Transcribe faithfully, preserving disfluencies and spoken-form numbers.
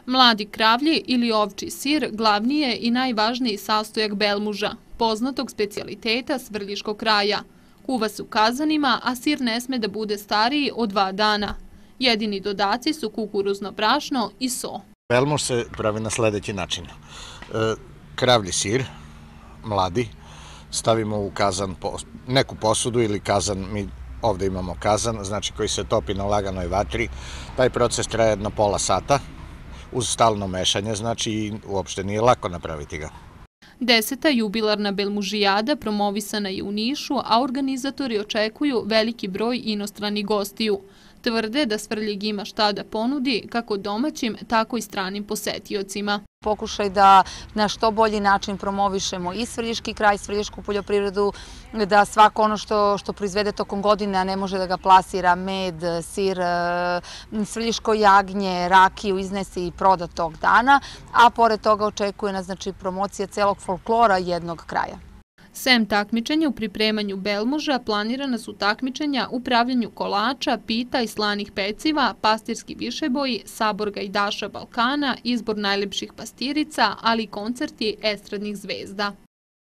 Mladi kravlji ili ovčji sir glavni je i najvažniji sastojak belmuža, poznatog specijaliteta Svrljiškog kraja. Kuva se u kazanima, a sir ne sme da bude stariji od dva dana. Jedini dodaci su kukuruzno brašno i so. Belmuž se pravi na sledeći način. Kravlji sir, mladi, stavimo u kazan, neku posudu ili kazan, mi ovde imamo kazan, znači koji se topi na laganoj vatri. Taj proces traje jedno pola sata, uz stalno mešanje, znači uopšte nije lako napraviti ga. Deseta jubilarna belmužijada promovisana je u Nišu, a organizatori očekuju veliki broj inostranih gostiju. Tvrde da Svrljig ima šta da ponudi kako domaćim, tako i stranim posetiocima. Pokušaj da na što bolji način promovišemo i Svrljiški kraj, Svrljišku poljoprivredu, da svako ono što, što proizvede tokom godine, a ne može da ga plasira, med, sir, svrljiško jagnje, rakiju iznese i proda tog dana, a pored toga očekuje nas znači, promocija celog folklora jednog kraja. Sem takmičenja u pripremanju belmuža, planirana su takmičenja u pravljenju kolača, pita i slanih peciva, pastirski višeboji, sabor gajdaša Balkana, izbor najlepših pastirica, ali i koncerti estradnih zvezda.